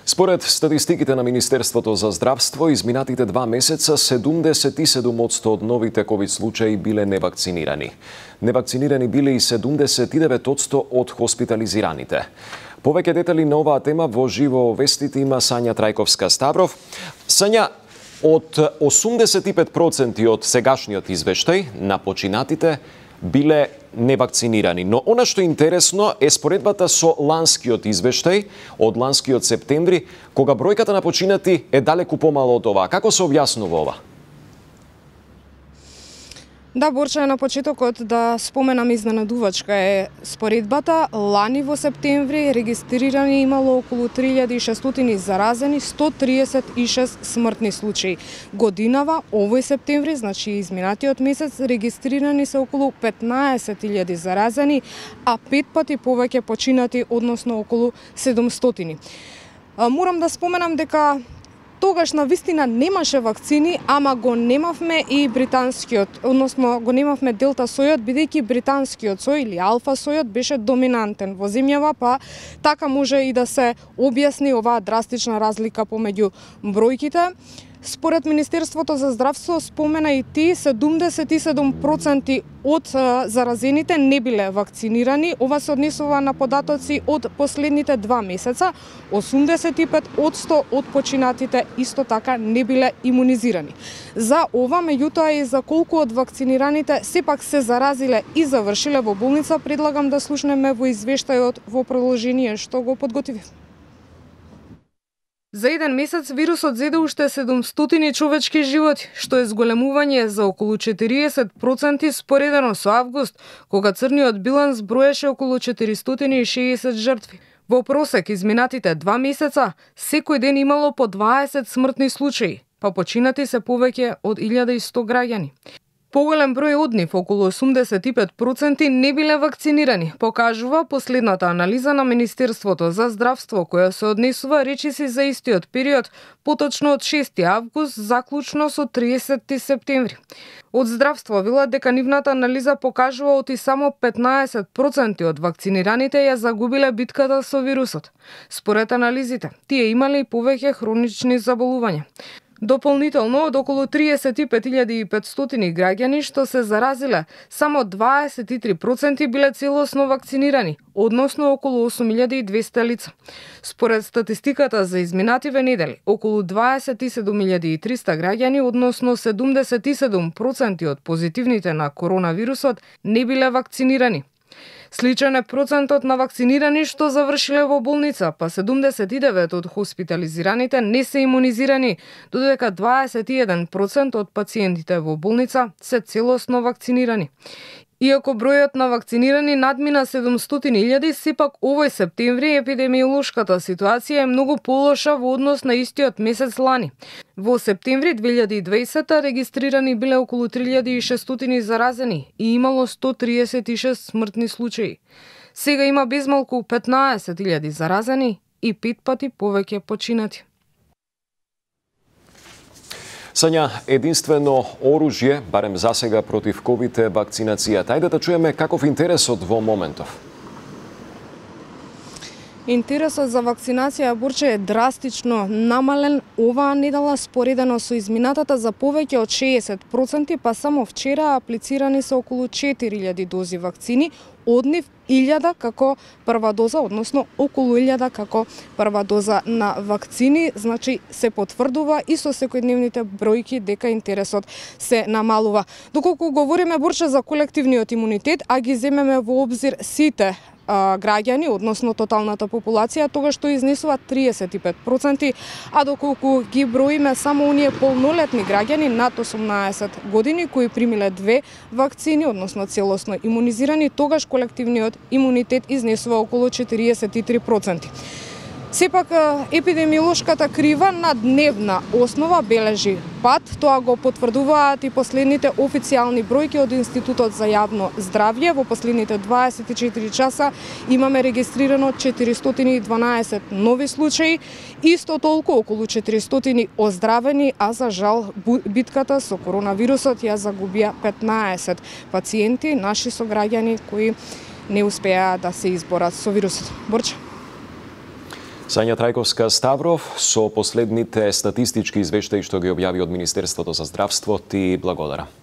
Според статистиките на Министерството за здравство, изминатите 2 месеца 77% од новите ковид случаи биле невакцинирани. Невакцинирани биле и 79% од хоспитализираните. Повеќе детали на оваа тема во живо вестите има Сања Трајковска-Ставров. Сања, од 85% од сегашниот извештај на починатите биле невакцинирани. Но она што е интересно е споредбата со ланскиот извештај од ланскиот септември, кога бројката на починати е далеку помало од ова. Како се објаснува ова? Да, Борче, на почетокот да споменам изненадувачка е споредбата. Лани во септември регистрирани имало околу 3600 заразени, 136 смртни случаи. Годинава, овој септември, значи изминатиот месец, регистрирани се околу 15.000 заразени, а 5 пати повеќе починати, односно околу 700. Морам да споменам дека тогаш на вистина немаше вакцини, ама го немавме и британскиот, односно го немавме делта сојот, бидејќи британскиот сој или алфа сојот беше доминантен во земјава, па така може и да се објасни оваа драстична разлика помеѓу бројките. Според Министерството за здравство, спомена и ти, 77% од заразените не биле вакцинирани. Ова се однесува на податоци од последните 2 месеца. 85% од починатите исто така не биле имунизирани. За ова, меѓутоа и за колку од вакцинираните сепак се заразиле и завршиле во болница, предлагам да слушнеме во извештајот во продолжение што го подготвив. За еден месец вирусот зеде уште 700 човечки животи, што е зголемување за околу 40% споредено со август, кога црниот биланс броеше околу 460 жртви. Во просек изминатите 2 месеца, секој ден имало по 20 смртни случаи, па починати се повеќе од 1100 граѓани. Поголем број од нив, околу 85%, не биле вакцинирани, покажува последната анализа на Министерството за здравство, која се однесува речиси за истиот период, поточно од 6 август, заклучно со 30 септември. Од здравство велат дека нивната анализа покажува оти само 15% од вакцинираните ја загубиле битката со вирусот. Според анализите, тие имале и повеќе хронични заболувања. Дополнително, од околу 35.500 граѓани што се заразиле, само 23% биле целосно вакцинирани, односно околу 8.200 лица. Според статистиката за изминативе недели, околу 27.300 граѓани, односно 77% од позитивните на коронавирусот, не биле вакцинирани. Сличен е процентот на вакцинирани што завршиле во болница, па 79% од хоспитализираните не се имунизирани, додека 21% од пациентите во болница се целосно вакцинирани. Иако бројот на вакцинирани надмина 700.000, сепак овој септември епидемиолошката ситуација е многу полоша во однос на истиот месец лани. Во септември 2020 регистрирани биле околу 3600 заразени и имало 136 смртни случаи. Сега има безмалку 15.000 заразени и 5 пати повеќе починати. Сања, единствено оружје, барем засега против ковид е вакцинацијата. Ајде да чуеме каков интересот во моментов. Интересот за вакцинација, Борче, е драстично намален оваа недела споредено со изминатата за повеќе од 60%, па само вчера аплицирани се околу 4000 дози вакцини, од нив 1000 како прва доза, односно околу 1000 како прва доза на вакцини, значи се потврдува и со секојдневните бројки дека интересот се намалува. Доколку говориме, Борче, за колективниот имунитет, а ги земеме во обзир сите граѓани, односно тоталната популација, тогаш што изнесува 35%, а доколку ги броиме само оние полнолетни граѓани над 18 години кои примиле 2 вакцини, односно целосно имунизирани, тогаш колективниот имунитет изнесува околу 43%. Сепак, епидемиолошката крива на дневна основа бележи пат, тоа го потврдуваат и последните официјални бројки од Институтот за јавно здравје. Во последните 24 часа имаме регистрирано 412 нови случаи, исто толку околу 400 оздравени, а за жал битката со коронавирусот ја загубија 15 пациенти, наши сограѓани кои не успеа да се изборат со вирусот. Борче. Сања Трајковска Ставров со последните статистички извештаи што ги објави од Министерството за здравство ти благодарам.